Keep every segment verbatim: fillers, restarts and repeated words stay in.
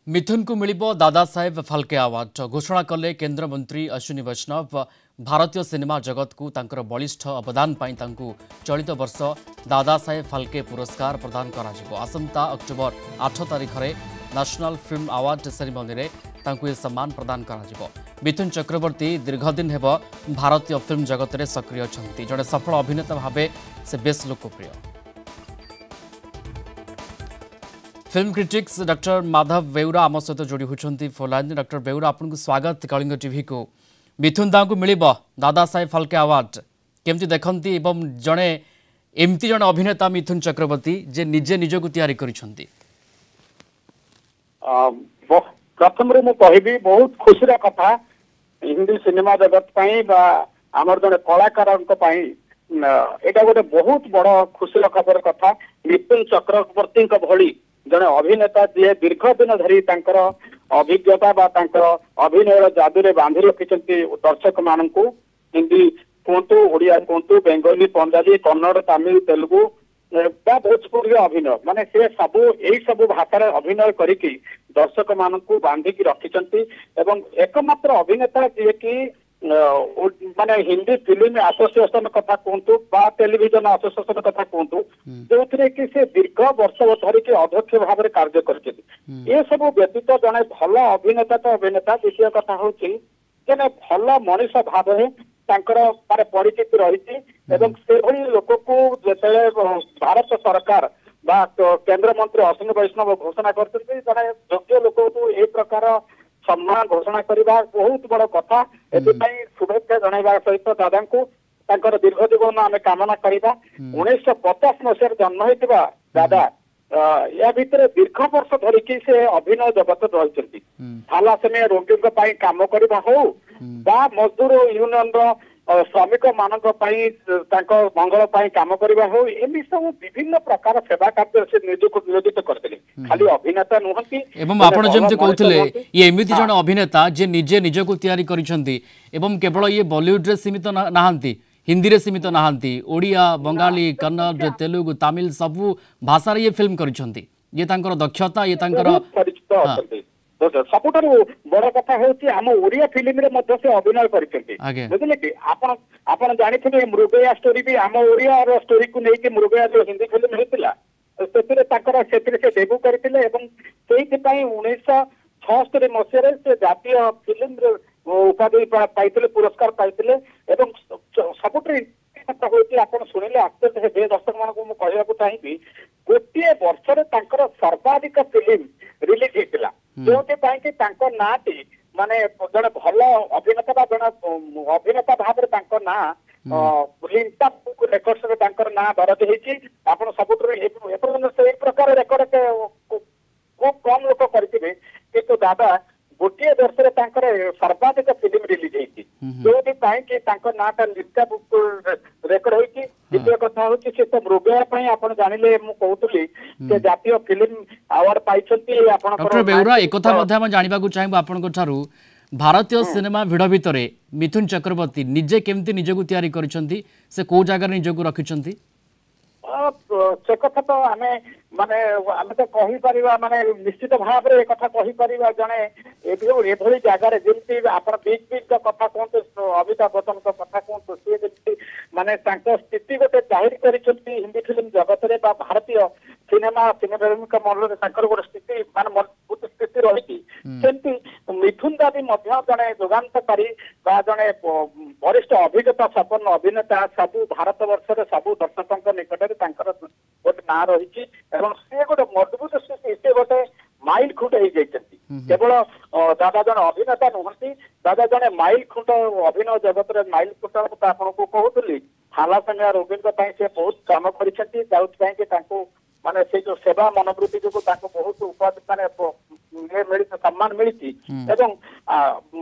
ମିଥୁନକୁ ମିଳିବ ଦାଦା ସାହେବ ଫାଲକେ ଆୱାର୍ଡ। ଘୋଷଣା କଲେ କେନ୍ଦ୍ରମନ୍ତ୍ରୀ ଅଶ୍ୱିନୀ ବୈଷ୍ଣବ। ଭାରତୀୟ ସିନେମା ଜଗତକୁ ତାଙ୍କର ବଳିଷ୍ଠ ଅବଦାନ ପାଇଁ ତାଙ୍କୁ ଚଳିତ ବର୍ଷ ଦାଦା ସାହେବ ଫାଲକେ ପୁରସ୍କାର ପ୍ରଦାନ କରାଯିବ। ଆସନ୍ତା ଅକ୍ଟୋବର ଆଠ ତାରିଖରେ ନ୍ୟାସନାଲ ଫିଲ୍ମ ଆୱାର୍ଡ ସେରିମନିରେ ତାଙ୍କୁ ଏ ସମ୍ମାନ ପ୍ରଦାନ କରାଯିବ। ମିଥୁନ ଚକ୍ରବର୍ତ୍ତୀ ଦୀର୍ଘଦିନ ହେବ ଭାରତୀୟ ଫିଲ୍ମ ଜଗତରେ ସକ୍ରିୟ ଅଛନ୍ତି। ଜଣେ ସଫଳ ଅଭିନେତା ଭାବେ ସେ ବେଶ୍ ଲୋକପ୍ରିୟ। Film critics doctor Madhav Beura ଆମ ସହିତ ଯୋଡ଼ି ହେଉଛନ୍ତି ଫୋନ୍। ଡକ୍ଟର ବେଉରା, ଆପଣଙ୍କୁ ସ୍ୱାଗତ କଳିଙ୍ଗ ଟିଭିକୁ। ମିଥୁନ ଦାଙ୍କୁ ମିଳିବ ଦାଦା ସାହେବ ଫାଲକେ ଆୱାର୍ଡ, କେମିତି ଦେଖନ୍ତି? ଏବଂ ଜଣେ ଏମିତି ଜଣେ ଅଭିନେତା ମିଥୁନ ଚକ୍ରବର୍ତ୍ତୀ ଯେ ନିଜେ ନିଜକୁ ତିଆରି କରିଛନ୍ତି। ପ୍ରଥମରୁ ମୁଁ କହିବି, ବହୁତ ଖୁସିର କଥା ହିନ୍ଦୀ ସିନେମା ଜଗତ ପାଇଁ ବା ଆମର ଜଣେ କଳାକାରଙ୍କ ପାଇଁ ଏଇଟା ଗୋଟେ ବହୁତ ବଡ ଖୁସିର ଖବର କଥା। ମିଥୁନ ଚକ୍ରବର୍ତ୍ତୀଙ୍କ ଭଳି ଜଣେ ଅଭିନେତା ଯିଏ ଦୀର୍ଘ ଦିନ ଧରି ତାଙ୍କର ଅଭିଜ୍ଞତା ବା ତାଙ୍କର ଅଭିନୟର ଯାଦୁରେ ବାନ୍ଧି ରଖିଛନ୍ତି ଦର୍ଶକ ମାନଙ୍କୁ, ହିନ୍ଦୀ କୁହନ୍ତୁ, ଓଡିଆ କୁହନ୍ତୁ, ବେଙ୍ଗଲୀ, ପଞ୍ଜାବୀ, କନ୍ନଡ, ତାମିଲ, ତେଲୁଗୁ ବା ଭୋଜପୁରୀର ଅଭିନୟ, ମାନେ ସେ ସବୁ ଏଇ ସବୁ ଭାଷାରେ ଅଭିନୟ କରିକି ଦର୍ଶକ ମାନଙ୍କୁ ବାନ୍ଧିକି ରଖିଛନ୍ତି। ଏବଂ ଏକମାତ୍ର ଅଭିନେତା ଯିଏକି ମାନେ ହିନ୍ଦୀ ଫିଲ୍ମ ଆସୋସିଏସନ କଥା କୁହନ୍ତୁ ବା ଟେଲିଭିଜନ ଆସୋସିଏସନ କଥା କୁହନ୍ତୁ, ଯୋଉଥିରେ କି ସେ ଦୀର୍ଘ ବର୍ଷ ଧରିକି ଅଧ୍ୟକ୍ଷ ଭାବରେ କାର୍ଯ୍ୟ କରିଛନ୍ତି। ଏସବୁ ବ୍ୟତୀତ ଜଣେ ଭଲ ଅଭିନେତା ତ ଅଭିନେତା, ଦ୍ୱିତୀୟ କଥା ହଉଛି ଜଣେ ଭଲ ମଣିଷ ଭାବରେ ତାଙ୍କର ମାନେ ପରିଚିତି ରହିଛି। ଏବଂ ସେଭଳି ଲୋକକୁ ଯେତେବେଳେ ଭାରତ ସରକାର ବା କେନ୍ଦ୍ରମନ୍ତ୍ରୀ ଅଶ୍ୱିନୀ ବୈଷ୍ଣବ ଘୋଷଣା କରିଛନ୍ତି, ଜଣେ ଯୋଗ୍ୟ ଲୋକକୁ ଏଇ ପ୍ରକାର ସମ୍ମାନ ଘୋଷଣା କରିବା ବହୁତ ବଡ କଥା। ଏଥିପାଇଁ ଶୁଭେଚ୍ଛା ଜଣାଇବା ସହିତ ଦାଦାଙ୍କୁ ତାଙ୍କର ଦୀର୍ଘ ଜୀବନ ଆମେ କାମନା କରିବା। ଉଣେଇଶହ ପଚାଶ ମସିହାରେ ଜନ୍ମ ହେଇଥିବା ଦାଦା ୟା ଭିତରେ ଦୀର୍ଘ ବର୍ଷ ଧରିକି ସେ ଅଭିନୟ ଜଗତରେ ରହିଛନ୍ତି। ଥାଲାସେମିଆ ରୋଗୀଙ୍କ ପାଇଁ କାମ କରିବା ହଉ ବା ମଜଦୁର ୟୁନିୟନର ଶ୍ରମିକ ମାନଙ୍କ ପାଇଁ ତାଙ୍କ ମଙ୍ଗଳ ପାଇଁ କାମ କରିବା ହଉ, ଏମିତି ସବୁ ବିଭିନ୍ନ ପ୍ରକାର ସେବା କାର୍ଯ୍ୟରେ ସେ ନିଜକୁ ନିୟୋଜିତ କରିଥିଲେ। ଖାଲି ଅଭିନେତା ନୁହନ୍ତି। ଏବଂ ଆପଣ ଯେମିତି କହୁଥିଲେ, ଇଏ ଏମିତି ଜଣେ ଅଭିନେତା ଯେ ନିଜେ ନିଜକୁ ତିଆରି କରିଛନ୍ତି ଏବଂ କେବଳ ଇଏ ବଲିଉଡରେ ସୀମିତ ନାହାନ୍ତି, ହିନ୍ଦୀରେ ସୀମିତ ନାହାନ୍ତି, ଓଡ଼ିଆ, ବଙ୍ଗାଳୀ, କନ୍ନଡ଼, ତେଲୁଗୁ, ତାମିଲ ସବୁ ଭାଷାରେ ଇଏ ଫିଲ୍ମ କରିଛନ୍ତି। ଇଏ ତାଙ୍କର ଦକ୍ଷତା, ଇଏ ତାଙ୍କର ପରିଚିତ ଅଛନ୍ତି। ସବୁଠାରୁ ବଡ କଥା ହେଉଛି ଆମ ଓଡିଆ ଫିଲ୍ମରେ ମଧ୍ୟ ସେ ଅଭିନୟ କରିଛନ୍ତି, ବୁଝିଲେ କି? ଆପଣ ଆପଣ ଜାଣିଥିବେ ମୃଗୟା ଷ୍ଟୋରି ବି ଆମ ଓଡିଆର ଷ୍ଟୋରିକୁ ନେଇକି ମୃଗୟା ଯୋଉ ହିନ୍ଦୀ ଫିଲ୍ମ ହେଇଥିଲା, ସେଥିରେ ତାଙ୍କର ସେଥିରେ ସେ ଡେବ୍ୟୁ କରିଥିଲେ। ଏବଂ ସେଇଥିପାଇଁ ଉଣେଇଶହ ଛଅସ୍ତରୀ ମସିହାରେ ସେ ଜାତୀୟ ଫିଲ୍ମରେ ଉପାଧି ପାଇଥିଲେ, ପୁରସ୍କାର ପାଇଥିଲେ। ଏବଂ ସବୁଠୁ କଥା ହଉଛି, ଆପଣ ଶୁଣିଲେ ଆଶ୍ଚର୍ଯ୍ୟ ହେବେ, ଦର୍ଶକ ମାନଙ୍କୁ ମୁଁ କହିବାକୁ ଚାହିଁବି, ଗୋଟିଏ ବର୍ଷରେ ତାଙ୍କର ସର୍ବାଧିକ ଫିଲ୍ମ ରିଲିଜ ହେଇଥିଲା, ଯେଉଁଥିପାଇଁ କି ତାଙ୍କ ନାଁଟି ମାନେ ଜଣେ ଭଲ ଅଭିନେତା ବା ଜଣେ ଅଭିନେତା ଭାବରେ ତାଙ୍କ ନାଁ ଲିମ୍କା ରେକର୍ଡସରେ ତାଙ୍କର ନାଁ ଦରଜ ହେଇଛି। ଆପଣ ସବୁଠାରୁ ଏପର୍ଯ୍ୟନ୍ତ ସେଇ ପ୍ରକାର ରେକର୍ଡ ଖୁବ କମ ଲୋକ କରିଥିବେ, କିନ୍ତୁ ଦାଦା ଗୋଟିଏ ବର୍ଷରେ ତାଙ୍କର ସର୍ବାଧିକ ଫିଲ୍ମ ରିଲିଜ ହେଇଛି, ଯୋଉଥିପାଇଁ କି ତାଙ୍କ ନାଁଟା ଲିମ୍କା ବୁକ୍ ରେକର୍ଡ ହେଇଛି। ଦ୍ୱିତୀୟ କଥା ହଉଛି ସେ ତ ମୃଗୟା ପାଇଁ ଆପଣ ଜାଣିଲେ, ମୁଁ କହୁଥିଲି ସେ ଜାତୀୟ ଫିଲ୍ମ ଆୱାର୍ଡ ପାଇଛନ୍ତି। ଆପଣଙ୍କର ବେଉରା, ଏକଥା ମଧ୍ୟ ଆମେ ଜାଣିବାକୁ ଚାହିଁବୁ ଆପଣଙ୍କ ଠାରୁ, ଭାରତୀୟ ସିନେମା ଭିଡ଼ ଭିତରେ ମିଥୁନ ଚକ୍ରବର୍ତ୍ତୀ ନିଜେ କେମିତି ନିଜକୁ ତିଆରି କରିଛନ୍ତି, ସେ କୋଉ ଜାଗାରେ ନିଜକୁ ରଖିଛନ୍ତି? ସେ କଥା ତ ଆମେ ମାନେ ଆମେ ତ କହିପାରିବା, ମାନେ ନିଶ୍ଚିତ ଭାବରେ ଏ କଥା କହିପାରିବା, ଜଣେ ଏଭଳି ଜାଗାରେ ଯେମିତି ଆପଣ ବିଗ୍ ବିଗ୍ କଥା କୁହନ୍ତୁ, ଅମିତାଭ ବଚ୍ଚନଙ୍କ କଥା କୁହନ୍ତୁ, ସିଏ ଯେମିତି ମାନେ ତାଙ୍କ ସ୍ଥିତି ଗୋଟେ ଜାହିର କରିଛନ୍ତି ହିନ୍ଦୀ ଫିଲ୍ମ ଜଗତରେ ବା ଭାରତୀୟ ସିନେମା ସିନେମାଙ୍କ ମନରେ ତାଙ୍କର ଗୋଟେ ସ୍ଥିତି ମାନେ ମଜବୁତ ସ୍ଥିତି ରହିଛି, ସେମିତି ମିଥୁନ ଦା ବି ମଧ୍ୟ ଜଣେ ଯୁଗାନ୍ତକାରୀ ବା ଜଣେ ବରିଷ୍ଠ ଅଭିଜ୍ଞତା ସମ୍ପନ୍ନ ଅଭିନେତା। ସବୁ ଭାରତ ବର୍ଷରେ ସବୁ ଦର୍ଶକଙ୍କ ନିକଟରେ ତାଙ୍କର ଗୋଟେ ନାଁ ରହିଛି ଏବଂ ସିଏ ଗୋଟେ ମଜବୁତ ସ୍ଥିତି, ସିଏ ଗୋଟେ ମାଇଲ ଖୁଣ୍ଟ ହେଇଯାଇଛନ୍ତି। କେବଳ ଦାଦା ଜଣେ ଅଭିନେତା ନୁହନ୍ତି, ଦାଦା ଜଣେ ମାଇଲ ଖୁଣ୍ଟ, ଅଭିନୟ ଜଗତରେ ମାଇଲ ଖୁଣ୍ଟ। ମୁଁ ତ ଆପଣଙ୍କୁ କହୁଥିଲି, ଥାଲାସେମିଆ ରୋଗୀଙ୍କ ପାଇଁ ସେ ବହୁତ କାମ କରିଛନ୍ତି, ଯେଉଁଥିପାଇଁ କି ତାଙ୍କୁ ମାନେ ସେ ଯୋଉ ସେବା ମନୋବୃତ୍ତି ଯୋଗୁଁ ତାଙ୍କୁ ବହୁତ ଉପାଧି ମାନେ ଇଏ ମିଳିଛି, ସମ୍ମାନ ମିଳିଛି। ଏବଂ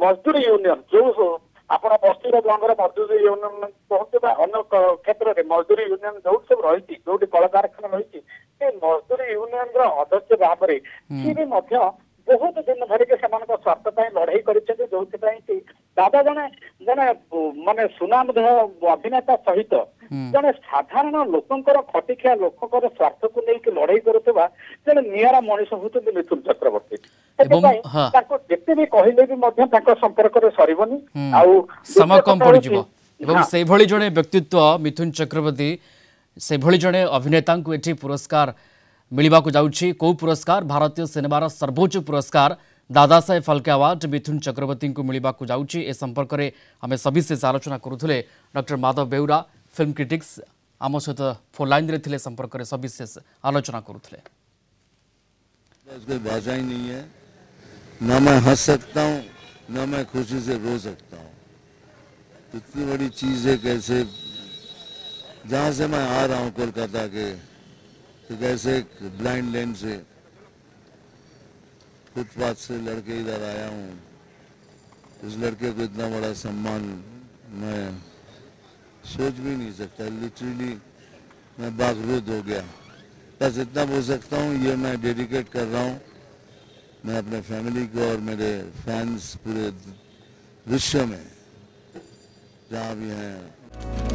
ମଜଦୁର ୟୁନିୟନ, ଯୋଉ ଆପଣ ପଶ୍ଚିମବଙ୍ଗର ମଜଦୁର ୟୁନିୟନ କୁହନ୍ତୁ ବା ଅନ୍ୟ କ୍ଷେତ୍ରରେ ମଜଦୁର ୟୁନିୟନ ଯୋଉଠି ସବୁ ରହିଛି, ଯୋଉଠି କଳକାରଖାନା ରହିଛି, ସେ ମଜଦୁର ୟୁନିୟନର ଅଧ୍ୟକ୍ଷ ଭାବରେ ସିଏ ବି ମଧ୍ୟ ବହୁତ ଦିନ ଧରିକି ସେମାନଙ୍କ ସ୍ୱାର୍ଥ ପାଇଁ ଲଢେଇ କରିଛନ୍ତି, ଯୋଉଥିପାଇଁ କି ଦାଦା ଜଣେ ଜଣେ ମାନେ ସୁନାମଧେୟ ଅଭିନେତା ସହିତ ଜଣେ ସାଧାରଣ ଲୋକଙ୍କର, ଖଟିଖିଆ ଲୋକଙ୍କର ସ୍ୱାର୍ଥକୁ ନେଇକି ଲଢେଇ କରୁଥିବା ଜଣେ ନିଆରା ମଣିଷ ହଉଛନ୍ତି ମିଥୁନ ଚକ୍ରବର୍ତ୍ତୀ। ସେଥିପାଇଁ ତାଙ୍କୁ ଯେତେ ବି କହିଲେ ବି ମଧ୍ୟ ତାଙ୍କ ସମ୍ପର୍କରେ ସରିବନି ଆଉ ସମୟ କମ ପଡିଯିବ। ଏବଂ ସେଇଭଳି ଜଣେ ବ୍ୟକ୍ତିତ୍ୱ ମିଥୁନ ଚକ୍ରବର୍ତ୍ତୀ, ସେଭଳି ଜଣେ ଅଭିନେତାଙ୍କୁ ଏଠି ପୁରସ୍କାର ମିଳିବାକୁ ଯାଉଛି। କେଉଁ ପୁରସ୍କାର? ଭାରତୀୟ ସିନେମାର ସର୍ବୋଚ୍ଚ ପୁରସ୍କାର ଦାଦାସାହେବ ଫାଲକେ ଆୱାର୍ଡ ମିଥୁନ ଚକ୍ରବର୍ତ୍ତୀଙ୍କୁ ମିଳିବାକୁ ଯାଉଛି। ଏ ସମ୍ପର୍କରେ ଆମେ ସବିଶେଷ ଆଲୋଚନା କରୁଥିଲେ। Doctor Madhab Beura, film critics, ଆମ ସହିତ ଫୋନ୍ ଲାଇନ୍ରେ ଥିଲେ, ସମ୍ପର୍କରେ ସବିଶେଷ ଆଲୋଚନା କରୁଥିଲେ। कोई भाषा ही नहीं है, ना मैं हंस सकता हूँ ना मैं खुशी से रो सकता हूँ। इतनी बड़ी चीज़ है, कैसे जहाँ से मैं आ रहा हूँ कोलकाता के, तो कैसे ब्लाइंड लेन से फुटपाथ से लड़के इधर आया हूँ, उस लड़के को इतना बड़ा सम्मान मैं सोच भी नहीं सकता। लिटरली मैं बागरुद हो गया। बस इतना बोल सकता हूँ, ये मैं डेडिकेट कर रहा हूँ मैं अपने फैमिली को और मेरे फैंस पूरे विश्व में जहाँ भी हैं।